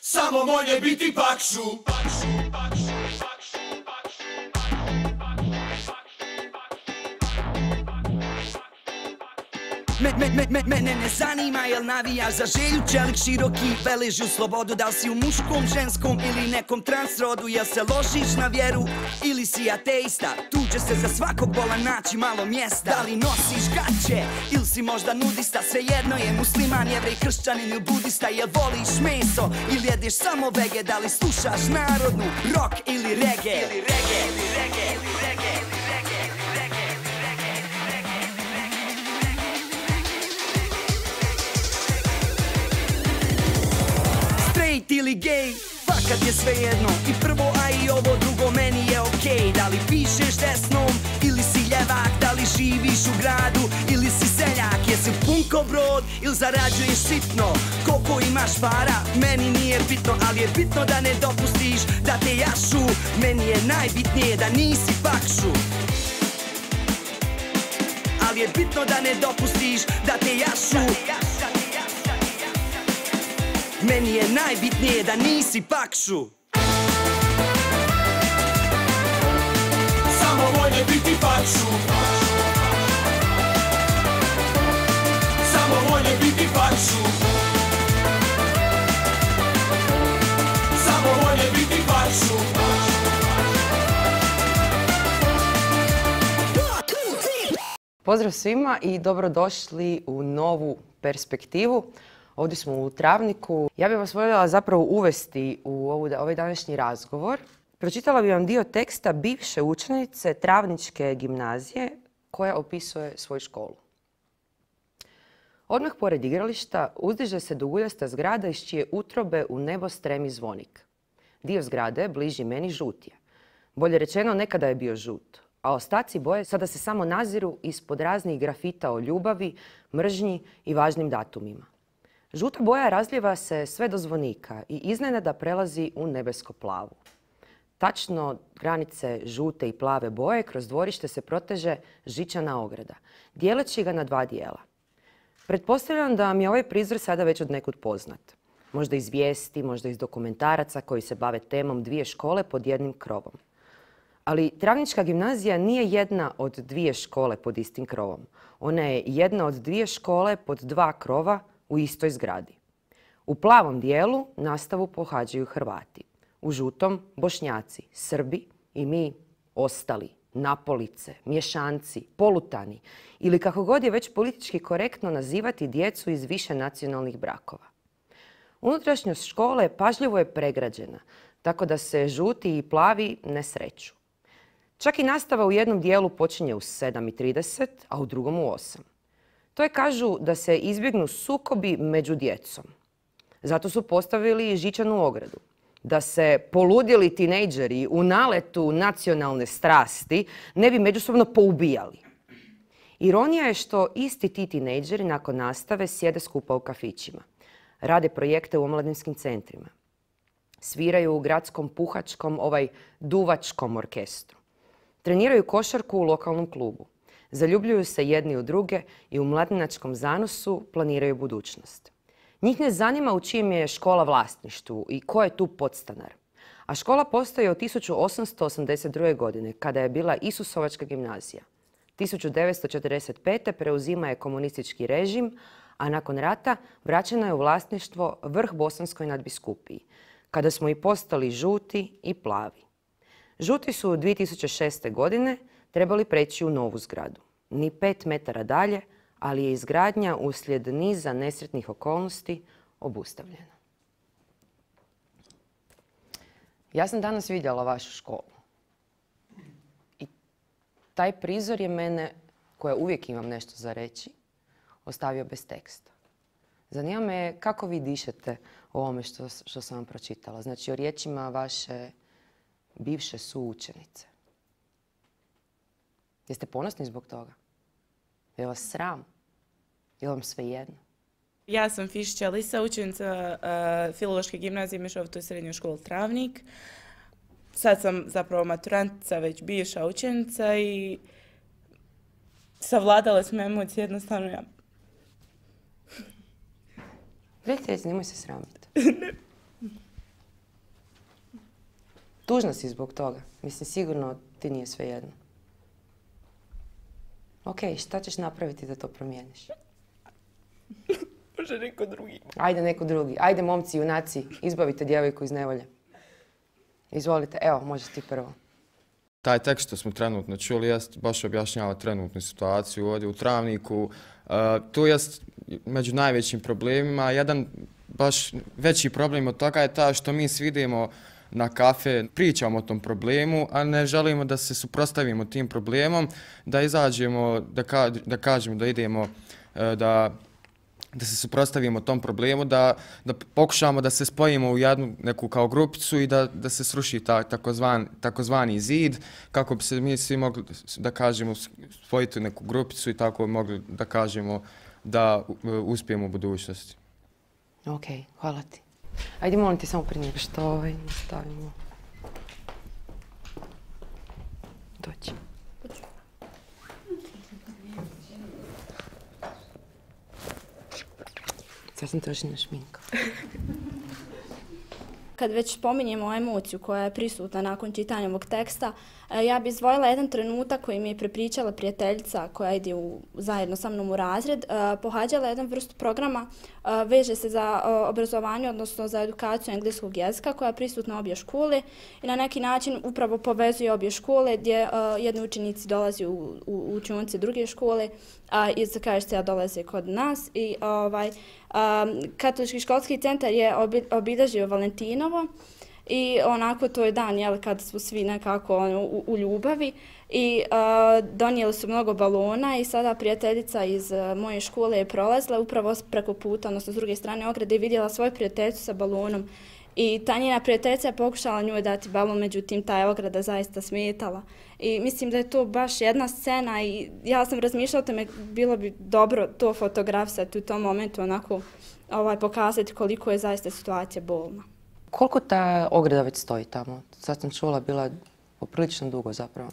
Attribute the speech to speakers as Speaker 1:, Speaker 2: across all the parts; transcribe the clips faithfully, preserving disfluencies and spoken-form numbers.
Speaker 1: Samo moje biti pakšu.
Speaker 2: Me, me, me, me, mene ne zanima jel navijaš za želju, čelik široki, veliš u slobodu. Da li si u muškom, ženskom ili nekom transrodu, jel se ložiš na vjeru ili si ateista? Tu će se za svakog bola naći malo mjesta. Da li nosiš gaće ili si možda nudista, svejedno je musliman, jevrej, kršćanin ili budista. Jel voliš meso ili jedeš samo vege, da li slušaš narodnu, rock ili reggae? Ili reggae, ili reggae, ili reggae. Ili gej, fakat je svejedno. I prvo, a i ovo drugo meni je okej. Da li pišeš desnom ili si ljevak, da li živiš u gradu ili si seljak. Jesi punko brod ili zarađuješ sitno, koliko imaš para, meni nije bitno. Ali je bitno da ne dopustiš da te jašu, meni je najbitnije da nisi pakšu. Ali je bitno da ne dopustiš da te jašu, meni je najbitnije da nisi pakšu.
Speaker 1: Samo moje biti pakšu. Samo moje biti pakšu. Samo moje biti pakšu.
Speaker 3: Pozdrav svima i dobrodošli u novu perspektivu. Ovdje smo u Travniku. Ja bih vas voljela zapravo uvesti u ovu, ovaj današnji razgovor. Pročitala bih vam dio teksta bivše učenice Travničke gimnazije koja opisuje svoju školu. Odmah pored igrališta uzdiže se duguljasta zgrada iz čije utrobe u nebo stremi zvonik. Dio zgrade bliži meni žut je. Bolje rečeno, nekada je bio žut, a ostaci boje sada se samo naziru ispod raznih grafita o ljubavi, mržnji i važnim datumima. Žuta boja razlijeva se sve do zvonika i iznenada prelazi u nebesko-plavu. Tačno granice žute i plave boje kroz dvorište se proteže žičana ograda, dijeleći ga na dva dijela. Pretpostavljam da mi je ovaj prizor sada već od nekud poznat. Možda iz vijesti, možda iz dokumentaraca koji se bave temom dvije škole pod jednim krovom. Ali Travnička gimnazija nije jedna od dvije škole pod istim krovom. Ona je jedna od dvije škole pod dva krova u istoj zgradi. U plavom dijelu nastavu pohađaju Hrvati, u žutom Bošnjaci, Srbi i mi ostali, napolice, mješanci, polutani ili kako god je već politički korektno nazivati djecu iz više nacionalnih brakova. Unutrašnjost škole pažljivo je pregrađena, tako da se žuti i plavi ne sreću. Čak i nastava u jednom dijelu počinje u sedam i trideset, a u drugom u osam. To je, kažu, da se izbjegnu sukobi među djecom. Zato su postavili žičanu ogradu. Da se poludjeli tinejdžeri u naletu nacionalne strasti ne bi međusobno poubijali. Ironija je što isti ti tinejdžeri nakon nastave sjede skupa u kafićima. Rade projekte u omladinskim centrima. Sviraju u gradskom puhačkom, ovaj duvačkom orkestru. Treniraju košarku u lokalnom klubu. Zaljubljuju se jedni u druge i u mladinačkom zanosu planiraju budućnost. Njih ne zanima u čijem je škola vlasništvu i ko je tu podstanar. A škola postoji od tisuću osamsto osamdeset druge. godine, kada je bila Isusovačka gimnazija. tisuću devetsto četrdeset pete. preuzima je komunistički režim, a nakon rata vraćeno je u vlasništvo Vrh Bosanskoj nadbiskupiji, kada smo i postali žuti i plavi. Žuti su dvije tisuće šeste. godine trebali preći u novu zgradu. Ni pet metara dalje, ali je izgradnja uslijed niza nesretnih okolnosti obustavljena. Ja sam danas vidjela vašu školu. I taj prizor je mene, koja uvijek imam nešto za reći, ostavio bez teksta. Zanima me kako vi dišete o ovome što, što sam vam pročitala. Znači o riječima vaše bivše suučenice. Jeste ponosni zbog toga? Je vas sram? Je vam svejedno?
Speaker 4: Ja sam Fišića Alisa, učenica uh, Filološke gimnazije Mešovitoj srednjoj školi Travnik. Sad sam zapravo maturantica, već bivša učenica i savladale smo emocije, jednostavno ja.
Speaker 3: Reci, reci, nemoj se sramiti. Tužna si zbog toga. Mislim, sigurno ti nije svejedno. Ok, šta ćeš napraviti da to promijeniš?
Speaker 4: Može neko drugi.
Speaker 3: Ajde neko drugi. Ajde momci, junaci, izbavite djevojku iz nevolje. Izvolite, evo, možeš ti prvo.
Speaker 5: Taj tekst što smo trenutno čuli jest baš objašnjava trenutnu situaciju ovdje u Travniku. Uh, tu jest među najvećim problemima. Jedan baš veći problem od toga je ta što mi svi idemo na kafe, pričamo o tom problemu, a ne želimo da se suprotstavimo tim problemom, da izađemo, da, ka, da kažemo da idemo, uh, da da se suprotstavimo tom problemu, da, da pokušamo da se spojimo u jednu neku kao grupicu i da, da se sruši ta, takozvan, takozvani zid, kako bi se mi svi mogli, da kažemo, spojiti u neku grupicu i tako mogli da kažemo da uh, uspijemo u budućnosti.
Speaker 3: Ok, hvala ti. Ajde, molim ti samo prije nego što ovaj stavimo. Doći. Sad sam trošina šminka.
Speaker 6: Kad već spominjemo emociju koja je prisutna nakon čitanja ovog teksta, ja bih izdvojila jedan trenutak koji mi je prepričala prijateljica koja ide u, zajedno sa mnom u razred. Pohađala jedan vrstu programa, veže se za obrazovanje, odnosno za edukaciju engleskog jezika koja je prisutna obje škole i na neki način upravo povezuje obje škole gdje jedni učenici dolaze u, u, u učionice druge škole, a iz Kraljevice dolaze kod nas. I ovaj, Katolički školski centar je obilježio Valentinovo i onako to je dan jel, kad su svi nekako ono, u, u ljubavi i uh, donijeli su mnogo balona i sada prijateljica iz uh, moje škole je prolazila upravo preko puta, odnosno s druge strane ograde i vidjela svoju prijateljicu sa balonom i ta njena prijateljica je pokušala njoj dati balon, međutim ta je ograda zaista smetala. I mislim da je to baš jedna scena i ja sam razmišljala o tome, bilo bi dobro to fotografisati u tom momentu, onako ovaj, pokazati koliko je zaista situacija bolna.
Speaker 3: Koliko ta ograda već stoji tamo? Sad sam čula, bila poprilično dugo zapravo.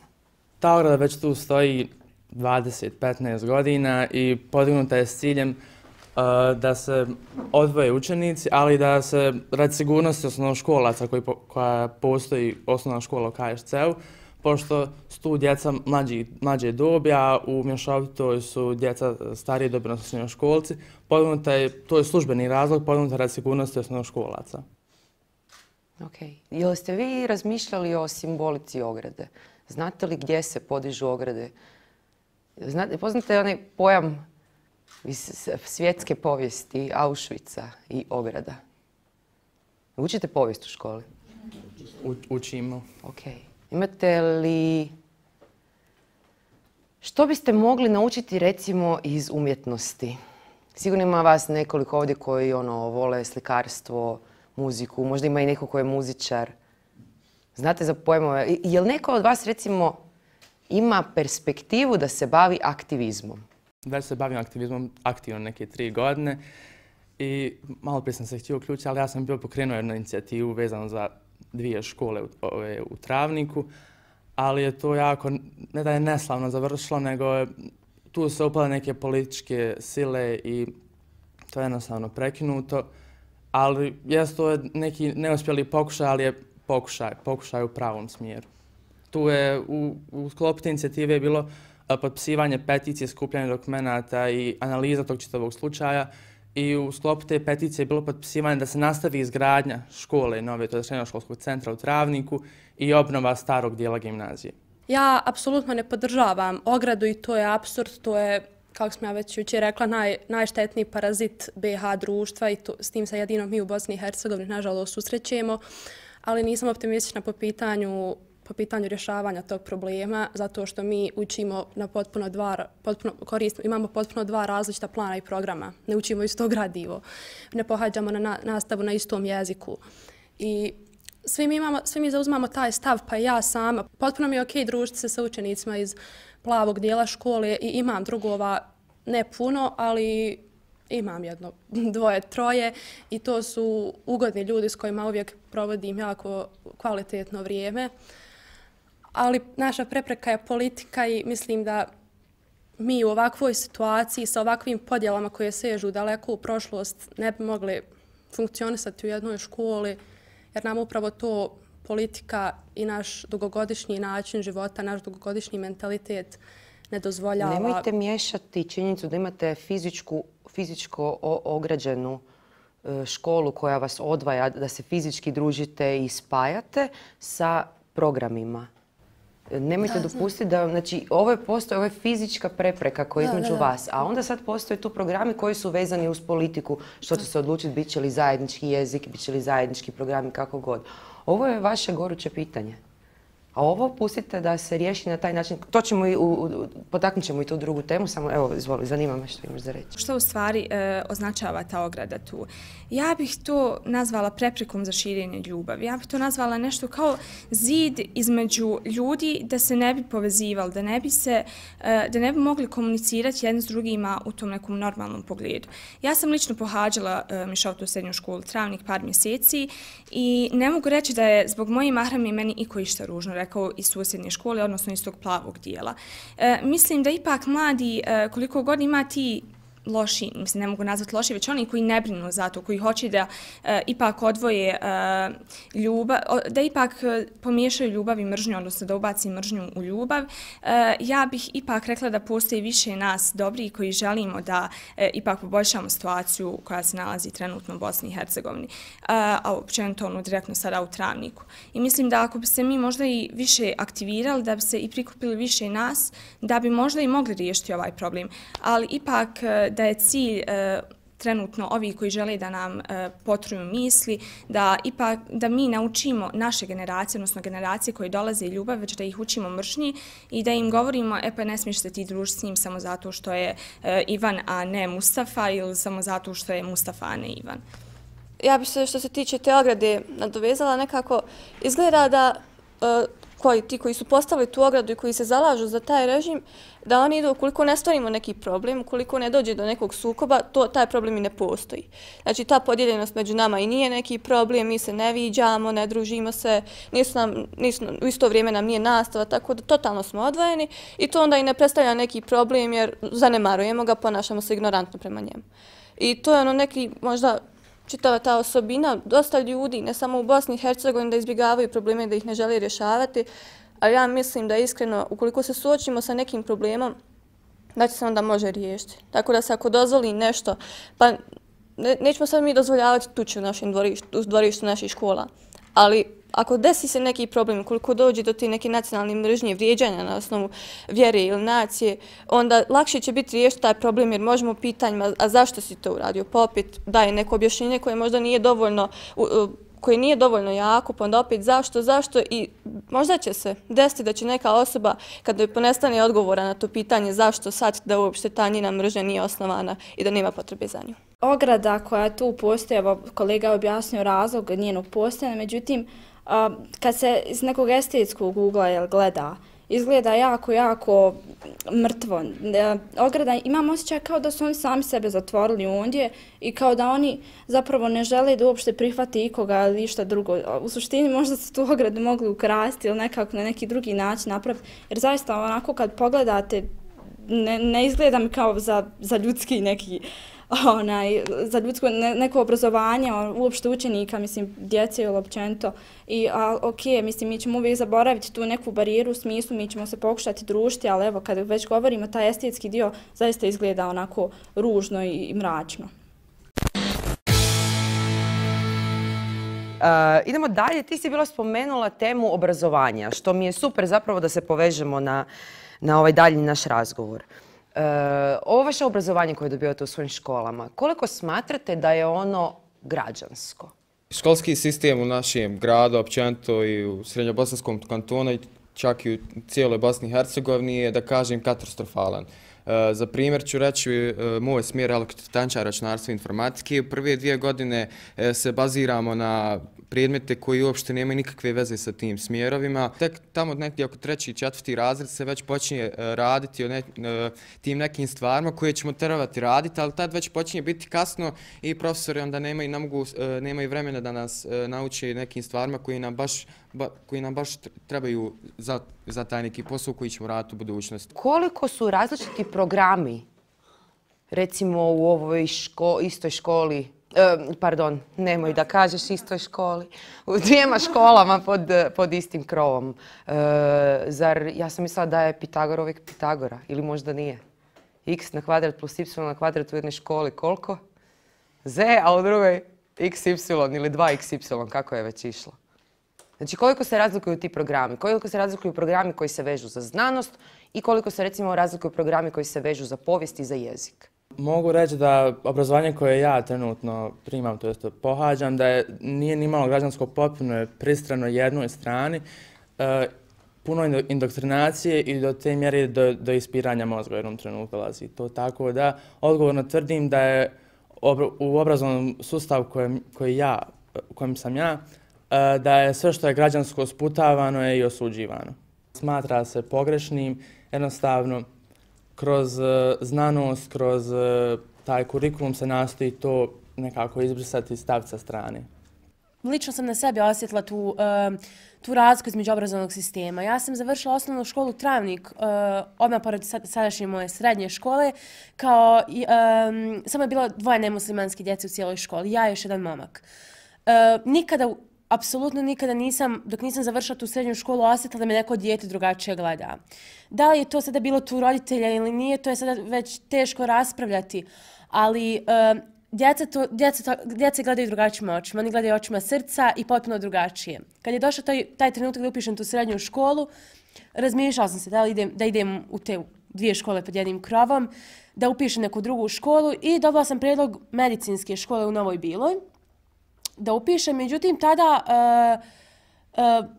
Speaker 7: Ta ograda već tu stoji dvadeset do petnaest godina i podignuta je s ciljem uh, da se odvoje učenici, ali da se radi sigurnosti osnovnoškolaca koji po, koja postoji osnovna škola u K Š C-u, pošto su tu djeca mlađi, mlađe dobi, a u mješovitoj su djeca starije dobi, odnosno srednjoškolci, podignuta je, to je službeni razlog, podignuta radi sigurnosti osnovnoškolaca.
Speaker 3: Ok. Jel ste vi razmišljali o simbolici ograde? Znate li gdje se podižu ograde? Znate, poznate onaj pojam iz svjetske povijesti Auschwitza i ograda? Učite povijest u školi?
Speaker 7: U, učimo.
Speaker 3: Ok. Imate li... Što biste mogli naučiti recimo iz umjetnosti? Sigurno ima vas nekoliko ovdje koji ono, vole slikarstvo, muziku, možda ima i neko ko je muzičar. Znate za pojmove? Je li neko od vas recimo ima perspektivu da se bavi aktivizmom?
Speaker 7: Već se bavim aktivizmom aktivno neke tri godine i malo prije sam se htio uključiti, ali ja sam bio pokrenuo jednu inicijativu vezanu za dvije škole u, ove, u Travniku, ali je to jako, ne da je neslavno završilo, nego je, tu se upale neke političke sile i to je jednostavno prekinuto. Ali jest to je neki neuspjeli pokušaj, ali je pokušaj, pokušaj u pravom smjeru. Tu je u, u sklopu te inicijative je bilo potpisivanje peticije, skupljanje dokumenata i analiza tog čitavog slučaja. I u sklopu te peticije je bilo potpisivanje da se nastavi izgradnja škole nove, to je srednjoškolskog centra u Travniku i obnova starog dijela gimnazije.
Speaker 8: Ja apsolutno ne podržavam ogradu i to je apsurd, to je, kako sam ja već jučer rekla, naj, najštetniji parazit B H društva i to, s tim se jedino mi u Bosni i Hercegovini nažalost susrećemo, ali nisam optimistična po pitanju, po pitanju rješavanja tog problema, zato što mi učimo na potpuno dva, potpuno, koristimo, imamo potpuno dva različita plana i programa. Ne učimo isto gradivo, ne pohađamo na, na nastavu na istom jeziku. I svi mi, imamo, svi mi zauzmamo taj stav, pa i ja sama. Potpuno mi je okej družiti se sa učenicima iz plavog dijela škole i imam drugova, ne puno, ali imam jedno, dvoje, troje i to su ugodni ljudi s kojima uvijek provodim jako kvalitetno vrijeme. Ali naša prepreka je politika i mislim da mi u ovakvoj situaciji sa ovakvim podjelama koje sežu daleko u prošlost ne bi mogli funkcionisati u jednoj školi jer nam upravo to politika i naš dugogodišnji način života, naš dugogodišnji mentalitet ne dozvoljava.
Speaker 3: Nemojte miješati činjenicu da imate fizičku, fizičko ograđenu školu koja vas odvaja, da se fizički družite i spajate sa programima. Nemojte da, dopustiti da, znači, ovo je postoje, ovo je fizička prepreka koja je između da, da, da. vas, a onda sad postoje tu programi koji su vezani uz politiku, što će se odlučiti, bit će li zajednički jezik, bit će li zajednički programi, kako god. Ovo je vaše goruće pitanje. A ovo pustite da se riješi na taj način. To ćemo i, u, u, potaknut ćemo i tu drugu temu, samo evo, izvoli, zanima me što imaš za reći.
Speaker 9: Što u stvari e, označava ta ograda tu? Ja bih to nazvala preprekom za širenje ljubavi. Ja bih to nazvala nešto kao zid između ljudi da se ne bi povezivali, da ne bi se, e, da ne bi mogli komunicirati jedni s drugima u tom nekom normalnom pogledu. Ja sam lično pohađala e, mješovitu srednju školu Travnik par mjeseci i ne mogu reći da je zbog moje mahrame meni iko išta ružno rekao iz susjednje škole, odnosno iz tog plavog dijela. E, mislim da ipak mladi, e, koliko god ima ti loši, mislim ne mogu nazvati loši, već oni koji ne brinu za to, koji hoće da e, ipak odvoje e, ljubav, da ipak pomiješaju ljubav i mržnju, odnosno da ubaci mržnju u ljubav. E, ja bih ipak rekla da postoji više nas dobri koji želimo da e, ipak poboljšamo situaciju koja se nalazi trenutno u Bosni i Hercegovini, a, a općenito ono direktno sada u Travniku. I mislim da ako bi se mi možda i više aktivirali, da bi se i prikupili više nas, da bi možda i mogli riješiti ovaj problem. Ali ipak da je cilj e, trenutno ovi koji žele da nam e, potruju misli, da ipak da mi naučimo naše generacije, odnosno generacije koje dolaze ljubav, već da ih učimo mržnji i da im govorimo, e pa ne smiješ se ti družiti s njim samo zato što je e, Ivan, a ne Mustafa, ili samo zato što je Mustafa, a ne Ivan.
Speaker 10: Ja bih se što se tiče te ograde nadovezala nekako, izgleda da e, koji, ti koji su postavili tu ogradu i koji se zalažu za taj režim, da oni idu, ukoliko ne stvorimo neki problem, ukoliko ne dođe do nekog sukoba, to, taj problem i ne postoji. Znači, ta podijeljenost među nama i nije neki problem, mi se ne viđamo, ne družimo se, nisu nam, nisu, u isto vrijeme nam nije nastava, tako da totalno smo odvojeni i to onda i ne predstavlja neki problem jer zanemarujemo ga, ponašamo se ignorantno prema njemu. I to je ono neki, možda, čitava ta osobina, dosta ljudi, ne samo u Bosni i Hercegovini, da izbjegavaju probleme, da ih ne žele rješavati, ali ja mislim da iskreno, ukoliko se suočimo sa nekim problemom, da će se onda može riješiti. Tako da se ako dozvoli nešto, pa ne, nećemo sad mi dozvoljavati tuče u našem dvorištu, u dvorištu naših škola, ali ako desi se neki problem, koliko dođe do te neke nacionalne mržnje, vrijeđanja na osnovu vjere ili nacije, onda lakše će biti riješiti taj problem jer možemo pitanjima, a zašto si to uradio? Pa opet daje neko objašnjenje koje možda nije dovoljno, koje nije dovoljno jako, pa onda opet zašto, zašto i možda će se desiti da će neka osoba, kada joj ponestane odgovora na to pitanje zašto, sad da uopšte ta njena mržnja nije osnovana i da nema potrebe za nju.
Speaker 6: Ograda koja tu postoji, evo kolega je objasnio razlog njenog postojanja, međutim, a, kad se iz nekog estetskog ugla jel, gleda, izgleda jako, jako mrtvo. E, ograda, imam osjećaj kao da su oni sami sebe zatvorili ondje i kao da oni zapravo ne žele da uopšte prihvati ikoga ili išta drugo. U suštini možda su tu ogradu mogli ukrasti ili nekako na neki drugi način napraviti, jer zaista onako kad pogledate ne, ne izgleda mi kao za, za ljudski neki onaj, za ljudsko ne, neko obrazovanje, uopšte učenika, mislim, djece ili općenito. I, a, ok, mislim, mi ćemo uvijek zaboraviti tu neku barijeru u smislu, mi ćemo se pokušati družiti, ali evo, kad već govorimo, taj estetski dio zaista izgleda onako ružno i, i mračno.
Speaker 3: Uh, idemo dalje, ti si bila spomenula temu obrazovanja, što mi je super zapravo da se povežemo na, na ovaj dalji naš razgovor. Uh, ovo vaše obrazovanje koje dobivate u svojim školama, koliko smatrate da je ono građansko?
Speaker 5: Školski sistem u našem gradu, općenito i u Srednjobosanskom kantonu, čak i u cijeloj Bosni i Hercegovini je, da kažem, katastrofalan. Uh, za primjer ću reći uh, moj smjer elektrotančar, računarstvo i informatike. U prve dvije godine uh, se baziramo na predmete koji uopšte nemaju nikakve veze sa tim smjerovima. Tek tamo negdje oko treći i četvrti razred se već počinje uh, raditi o ne, uh, tim nekim stvarima koje ćemo trebati raditi, ali tad već počinje biti kasno i profesori onda nemaju, ne mogu, uh, nemaju vremena da nas uh, nauče nekim stvarima koji nam baš, ba, koji nam baš trebaju za, za taj neki posao koji ćemo raditi u budućnosti.
Speaker 3: Koliko su različiti programi, recimo u ovoj ško, istoj školi E, pardon, nemoj da kažeš istoj školi. U dvijema školama pod, pod istim krovom. E, zar, ja sam mislila da je Pitagor uvijek Pitagora, ili možda nije. X na kvadrat plus y na kvadrat u jednoj školi koliko? Z, a u drugoj x y ili dva x y, kako je već išlo. Znači koliko se razlikuju ti programi, koliko se razlikuju programi koji se vežu za znanost i koliko se recimo razlikuju programi koji se vežu za povijest i za jezik.
Speaker 7: Mogu reći da obrazovanje koje ja trenutno primam, to jest pohađam, da je, nije ni malo građansko potpuno je pristrano jednoj strani, e, puno indoktrinacije i do te mjere do, do ispiranja mozga u jednom trenutku dolazi. To tako da odgovorno tvrdim da je u obrazovnom sustavu kojem, koji ja, u kojem sam ja, da je sve što je građansko sputavano je i osuđivano. Smatra se pogrešnim, jednostavno kroz znanost, kroz taj kurikulum se nastoji to nekako izbrisati i staviti sa strane.
Speaker 11: Lično sam na sebi osjetila tu, tu razliku između obrazovnog sistema. Ja sam završila osnovnu školu Travnik, odmah pored sadašnje moje srednje škole, kao, um, samo je bilo dvoje nemuslimanske djece u cijeloj školi, ja i još jedan momak. Nikada Apsolutno nikada nisam, dok nisam završila tu srednju školu, osjetila da me neko dijete drugačije gleda. Da li je to sada bilo tu roditelja ili nije, to je sada već teško raspravljati, ali uh, djeca, to, djeca, to, djeca gledaju drugačijim očima, oni gledaju očima srca i potpuno drugačije. Kad je došao taj, taj trenutak da upišem tu srednju školu, razmišljala sam se da li idem, da idem u te dvije škole pod jednim krovom, da upišem neku drugu školu i dobila sam prijedlog medicinske škole u Novoj Biloj da upišem. Međutim, tada uh, uh,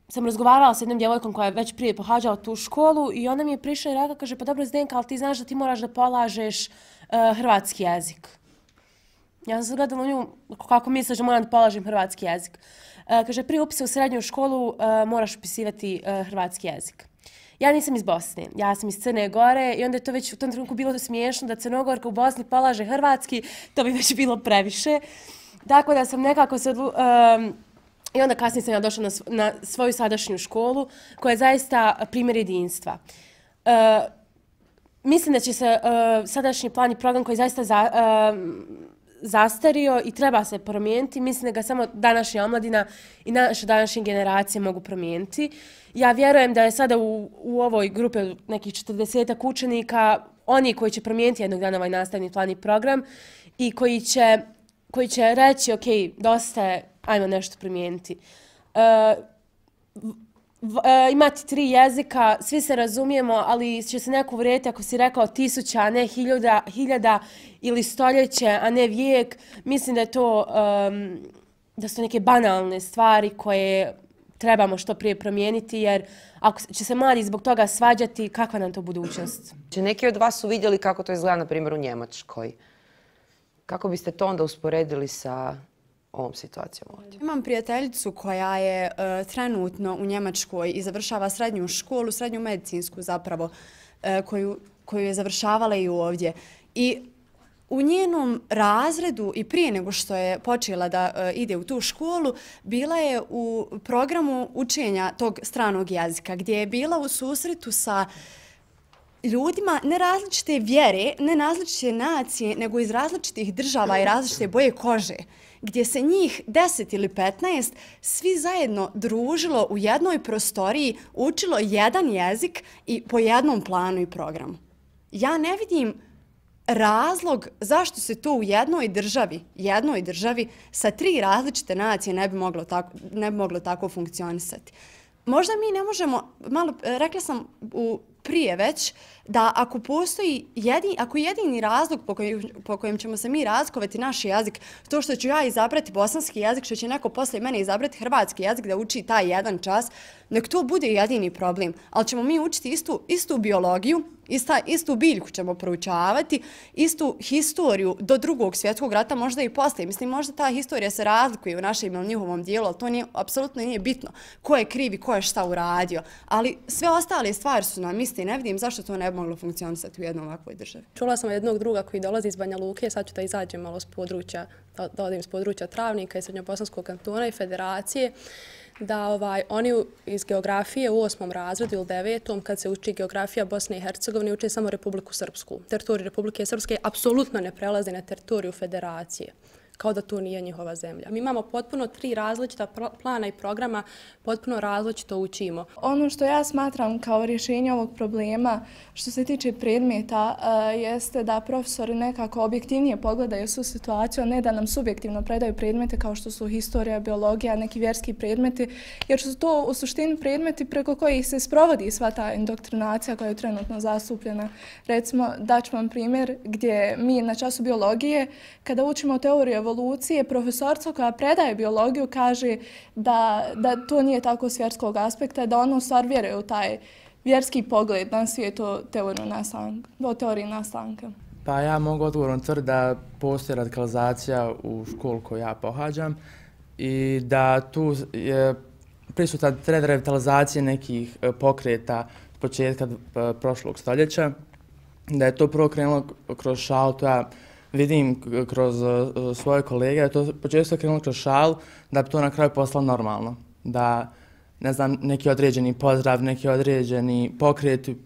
Speaker 11: sam razgovarala s jednom djevojkom koja je već prije pohađala tu školu i ona mi je prišla i rekla, kaže, pa dobro Zdenka, ali ti znaš da ti moraš da polažeš uh, hrvatski jezik. Ja sam se gledala u nju, kako misliš da moram da polažem hrvatski jezik. Uh, kaže, prije upisa u srednju školu uh, moraš upisivati uh, hrvatski jezik. Ja nisam iz Bosne, ja sam iz Crne Gore i onda je to već u tom trenutku bilo smiješno da Crnogorka u Bosni polaže hrvatski, to bi već bilo previše. Tako da sam nekako se odlu... Um, I onda kasnije sam ja došla na, na svoju sadašnju školu, koja je zaista primjer jedinstva. Uh, mislim da će se uh, sadašnji plan i program koji je zaista za, uh, zastario i treba se promijeniti. Mislim da ga samo današnja omladina i naše današnje generacije mogu promijeniti. Ja vjerujem da je sada u, u ovoj grupi nekih četrdesetak učenika oni koji će promijeniti jednog dana ovaj nastavni plan i program i koji će koji će reći, ok, dosta je, ajmo nešto primijeniti. Uh, v, v, uh, imati tri jezika, svi se razumijemo, ali će se neko uvrijediti ako si rekao tisuća, a ne hiljada, hiljada ili stoljeće, a ne vijek. Mislim da je to, um, da su neke banalne stvari koje trebamo što prije promijeniti, jer ako će se mladi zbog toga svađati, kakva nam to budućnost?
Speaker 3: Neki od vas su vidjeli kako to izgleda, na primjer, u Njemačkoj. Kako biste to onda usporedili sa ovom situacijom ovdje?
Speaker 12: Imam prijateljicu koja je uh, trenutno u Njemačkoj i završava srednju školu, srednju medicinsku zapravo, uh, koju, koju je završavala i ovdje. I u njenom razredu i prije nego što je počela da uh, ide u tu školu, bila je u programu učenja tog stranog jezika, gdje je bila u susretu sa ljudima ne različite vjere, ne različite nacije, nego iz različitih država i različite boje kože, gdje se njih deset ili petnaest svi zajedno družilo u jednoj prostoriji, učilo jedan jezik i po jednom planu i programu. Ja ne vidim razlog zašto se to u jednoj državi, jednoj državi sa tri različite nacije ne bi moglo tako, ne bi moglo tako funkcionisati. Možda mi ne možemo, malo, rekla sam u prije već, da ako postoji jedin, ako jedini razlog po kojem, po kojem ćemo se mi razlikovati naš jezik, to što ću ja izabrati bosanski jezik, što će neko poslije mene izabrati hrvatski jezik da uči taj jedan čas, nek to bude jedini problem. Ali ćemo mi učiti istu, istu biologiju, ista, istu biljku ćemo proučavati, istu historiju do drugog svjetskog rata, možda i poslije. Mislim, možda ta historija se razlikuje u našem ili njihovom dijelu, ali to nije, apsolutno nije bitno ko je kriv i ko je šta uradio. Ali sve ostale stvari su nam isti. Ne vidim zašto to ne bi moglo funkcionisati u jednom ovakvoj državi.
Speaker 8: Čula sam jednog druga koji dolazi iz Banja Luke, sad ću da izađem malo s područja, da, da odim s područja Travnika i Srednjobosanskog kantona i federacije, da ovaj, oni iz geografije u osmom razredu ili devetom, kad se uči geografija Bosne i Hercegovine, uče samo Republiku Srpsku. Teritorij Republike Srpske apsolutno ne prelazi na teritoriju federacije. kao da to nije njihova zemlja. Mi imamo potpuno tri različita plana i programa, potpuno različito učimo.
Speaker 13: Ono što ja smatram kao rješenje ovog problema što se tiče predmeta jeste da profesori nekako objektivnije pogledaju svu situaciju, a ne da nam subjektivno predaju predmete kao što su historija, biologija, neki vjerski predmeti, jer su to u suštini predmeti preko kojih se sprovodi sva ta indoktrinacija koja je trenutno zastupljena. Recimo, daću vam primjer gdje mi na času biologije, kada učimo teoriju evolucije, profesorca koja predaje biologiju kaže da, da to nije tako s vjerskog aspekta, da ono u stvar vjeruje u taj vjerski pogled na svijet o teoriji nastanka. O teoriji nastanka.
Speaker 7: Pa ja mogu odgovorno tvrditi da postoji radikalizacija u školu koju ja pohađam i da tu je prisutan trend revitalizacije nekih pokreta s početka prošlog stoljeća, da je to prvo krenulo kroz šalu, to ja vidim kroz svoje kolege, da je to počesto krenulo kroz šalu, da bi to na kraju postalo normalno. Da, ne znam, neki određeni pozdrav, neki određeni pokreti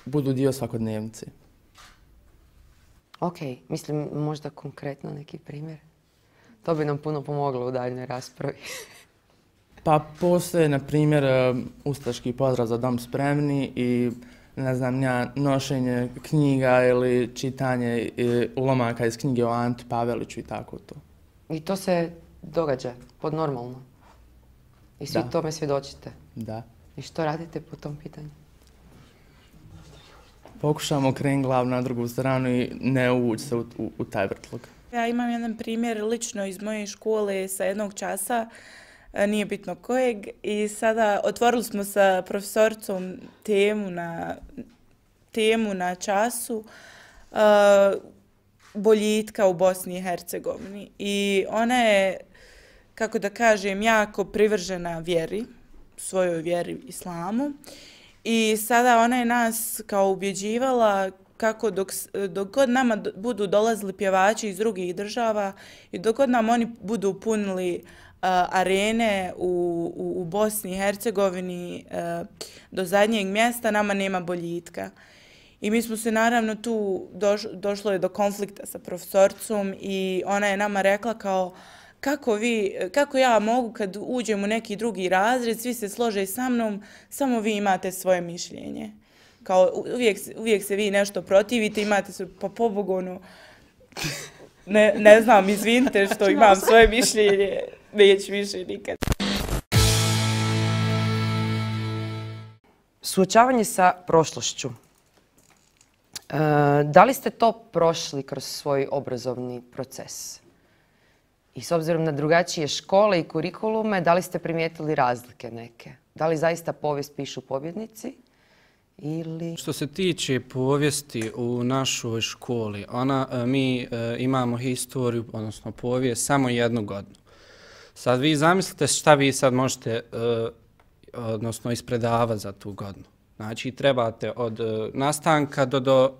Speaker 7: budu dio svakodnevnice.
Speaker 3: Ok, mislim možda konkretno neki primjer. To bi nam puno pomoglo u daljnjoj raspravi.
Speaker 7: Pa postoje, na primjer, ustaški pozdrav za dom spremni i ne znam ja, nošenje knjiga ili čitanje ulomaka iz knjige o Anti Paveliću i tako to.
Speaker 3: I to se događa pod normalno? I svi
Speaker 7: Da.
Speaker 3: tome svjedočite?
Speaker 7: Da.
Speaker 3: I što radite po tom pitanju?
Speaker 7: Pokušamo krenuti glavu na drugu stranu i ne uvući se u, u, u taj vrtlog.
Speaker 4: Ja imam jedan primjer lično iz moje škole sa jednog časa, nije bitno kojeg, i sada otvorili smo sa profesoricom temu na, temu na času uh, boljitka u Bosni i Hercegovini. I ona je, kako da kažem, jako privržena vjeri, svojoj vjeri islamu. I sada ona je nas kao ubjeđivala kako dok, dok god nama do, budu dolazili pjevači iz drugih država i dok god nam oni budu punili Uh, arene u, u, u Bosni i Hercegovini uh, do zadnjeg mjesta, nama nema boljitka. I mi smo se naravno tu, doš, došlo je do konflikta sa profesorcom i ona je nama rekla kao kako, vi, kako ja mogu kad uđem u neki drugi razred, svi se slože sa mnom, samo vi imate svoje mišljenje. Kao uvijek, uvijek se vi nešto protivite, imate se po pobogonu, ne, ne znam, izvinite što imam svoje mišljenje. Neću više nikad.
Speaker 3: Suočavanje sa prošlošću. E, da li ste to prošli kroz svoj obrazovni proces? I s obzirom na drugačije škole i kurikulume, da li ste primijetili razlike neke? Da li zaista povijest pišu pobjednici? Ili...
Speaker 14: Što se tiče povijesti u našoj školi, ona, mi e, imamo historiju, odnosno povijest, samo jednu godinu. Sad vi zamislite šta vi sad možete, uh, odnosno ispredavati za tu godinu. Znači trebate od uh, nastanka do, do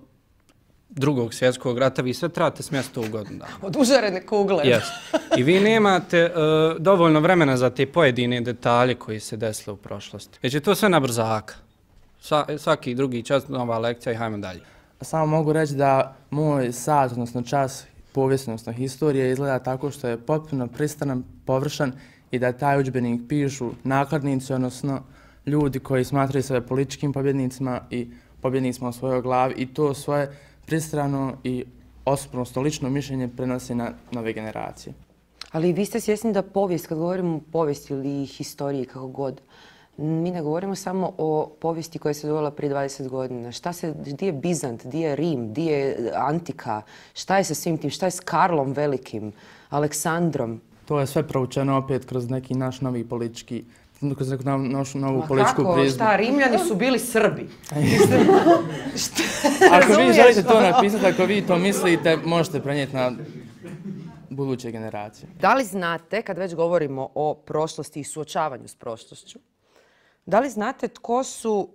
Speaker 14: drugog svjetskog rata, vi sve trebate smjesti u godinu dana.
Speaker 3: Od užarene kugle.
Speaker 14: Yes. I vi nemate uh, dovoljno vremena za te pojedine detalje koji se desile u prošlosti. Već je to sve na brzaka. Sa, svaki drugi čas, nova lekcija i hajmo dalje.
Speaker 7: Samo mogu reći da moj sat, odnosno čas povijesti, odnosno historije, izgleda tako što je potpuno pristranan, površan i da taj udžbenik pišu nakladnici, odnosno ljudi koji smatraju sebe političkim pobjednicima i pobjednicima u svojoj glavi i to svoje pristrano i osobno lično mišljenje prenosi na nove generacije.
Speaker 3: Ali vi ste svjesni da povijest, kad govorimo o povijesti ili historiji, kako god, mi ne govorimo samo o povijesti koja se dogodila prije dvadeset godina. Šta se, gdje je Bizant, gdje je Rim, gdje je Antika, šta je sa svim tim, šta je s Karlom Velikim, Aleksandrom?
Speaker 7: To je sve proučeno opet kroz neki naš novi politički, kroz neku našu novu
Speaker 3: Ma
Speaker 7: političku
Speaker 3: kako?
Speaker 7: prizmu.
Speaker 3: Šta, Rimljani su bili Srbi.
Speaker 7: Ako vi želite to napisati, ako vi to mislite, možete prenijeti na buduće generacije.
Speaker 3: Da li znate, kad već govorimo o prošlosti i suočavanju s prošlošću, da li znate tko su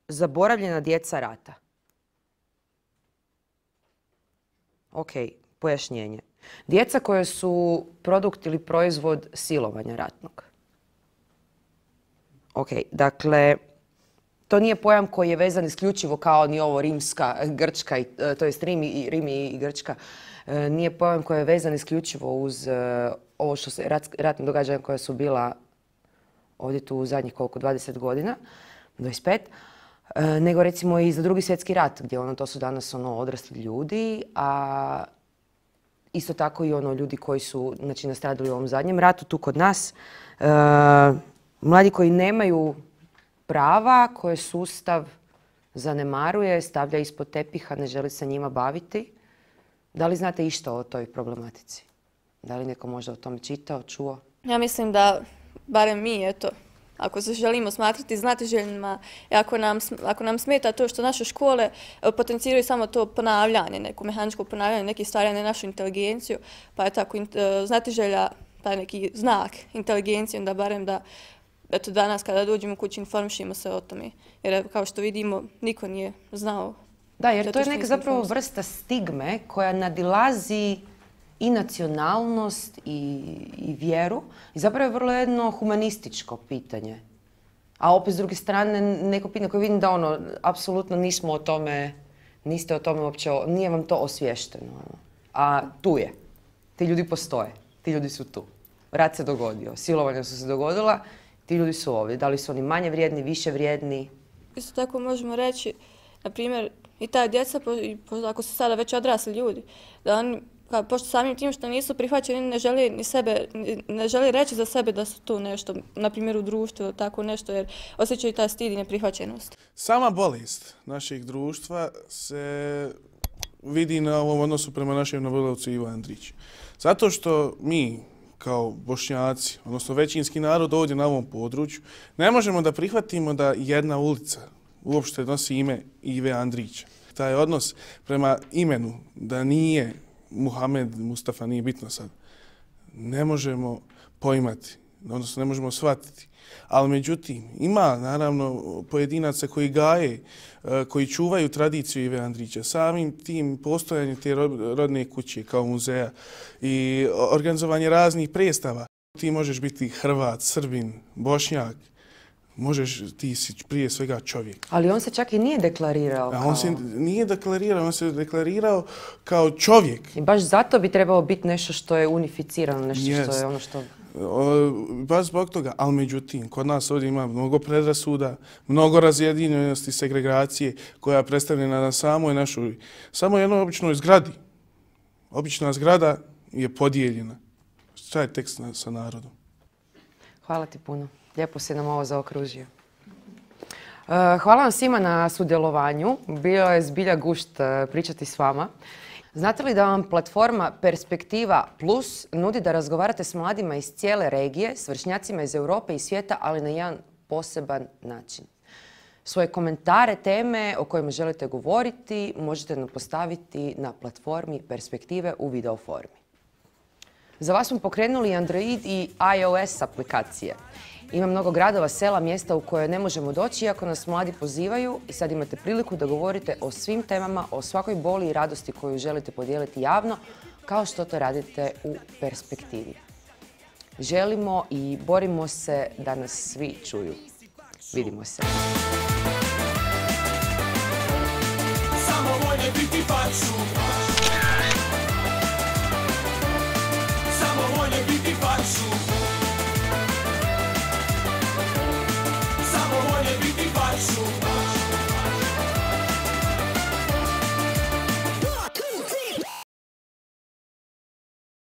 Speaker 3: zaboravljena djeca rata? Ok, pojašnjenje. Djeca koje su produkt ili proizvod silovanja ratnog. Ok, dakle, to nije pojam koji je vezan isključivo kao ni ovo rimska, grčka, to jest Rim i, Rim i Grčka. e, nije pojam koji je vezan isključivo uz e, ovo što se rat, ratne događanja koja su bila ovdje tu u zadnjih koliko, dvadeset godina, dvadeset pet, e, nego recimo i za drugi svjetski rat, gdje ono, to su danas ono, odrasli ljudi, a isto tako i ono ljudi koji su znači, nastradali u ovom zadnjem ratu tu kod nas. E, mladi koji nemaju prava, koje sustav zanemaruje, stavlja ispod tepiha, ne želi se njima baviti. Da li znate išta o toj problematici? Da li neko možda o tome čitao, čuo?
Speaker 10: Ja mislim da, barem mi, eto, ako se želimo smatrati znatiželjnima, ako nam, ako nam smeta to što naše škole potenciraju samo to ponavljanje, neko mehaničko ponavljanje nekih stvari, a ne našu inteligenciju, pa je tako znatiželja, taj neki znak inteligencije, onda barem da eto danas kada dođemo kući informišimo se o tome. Jer kao što vidimo, niko nije znao.
Speaker 3: Da, jer to je neka zapravo vrsta stigme koja nadilazi i nacionalnost i, i vjeru. I zapravo je vrlo jedno humanističko pitanje. A opet s druge strane neko pitanje koje vidim da ono, apsolutno nismo o tome, niste o tome uopće, nije vam to osvješteno. A tu je. Ti ljudi postoje. Ti ljudi su tu. Rat se dogodio. Silovanja su se dogodila. Ti ljudi su ovdje. Da li su oni manje vrijedni, više vrijedni?
Speaker 10: Isto tako možemo reći, na primjer, i ta djeca, ako su sada već odrasli ljudi, da oni, kao, pošto samim tim što nisu prihvaćeni, ne želi ni sebe, ne želi reći za sebe da su tu nešto, na primjer u društvu, tako nešto, jer osjećaju taj stid i neprihvaćenost.
Speaker 15: Sama bolest našeg društva se vidi na ovom odnosu prema našem nobelovcu Ivo Andriću. Zato što mi, kao Bošnjaci, odnosno većinski narod ovdje na ovom području, ne možemo da prihvatimo da jedna ulica uopšte nosi ime Ive Andrića. Taj odnos prema imenu, da nije Muhamed, Mustafa, nije bitno sad, ne možemo poimati, odnosno ne možemo shvatiti. Ali međutim, ima naravno pojedinaca koji gaje, koji čuvaju tradiciju Ive Andrića. Samim tim postojanjem te rodne kuće kao muzeja i organizovanje raznih predstava. Ti možeš biti Hrvat, Srbin, Bošnjak, možeš, ti si prije svega čovjek.
Speaker 3: Ali on se čak i nije deklarirao kao...
Speaker 15: A on se nije deklarirao, on se deklarirao kao čovjek.
Speaker 3: I baš zato bi trebalo biti nešto što je unificirano, nešto
Speaker 15: Jest.
Speaker 3: što je ono što...
Speaker 15: O, baš zbog toga, ali međutim, kod nas ovdje ima mnogo predrasuda, mnogo razjedinjenosti, segregacije koja je predstavljena na samoj našoj, samo jednoj običnoj zgradi. Obična zgrada je podijeljena. Šta je tekst na, sa narodom?
Speaker 3: Hvala ti puno. Lijepo si nam ovo zaokružio. Hvala vam svima na sudjelovanju. Bio je zbilja gušt pričati s vama. Znate li da vam platforma Perspektiva Plus nudi da razgovarate s mladima iz cijele regije, s vršnjacima iz Europe i svijeta, ali na jedan poseban način? Svoje komentare, teme o kojima želite govoriti možete nam postaviti na platformi Perspektive u video formi. Za vas smo pokrenuli Android i iOS aplikacije. Ima mnogo gradova, sela, mjesta u koje ne možemo doći iako nas mladi pozivaju i sad imate priliku da govorite o svim temama, o svakoj boli i radosti koju želite podijeliti javno, kao što to radite u Perspektivi. Želimo i borimo se da nas svi čuju. Vidimo se.
Speaker 1: Samo volje biti faksu.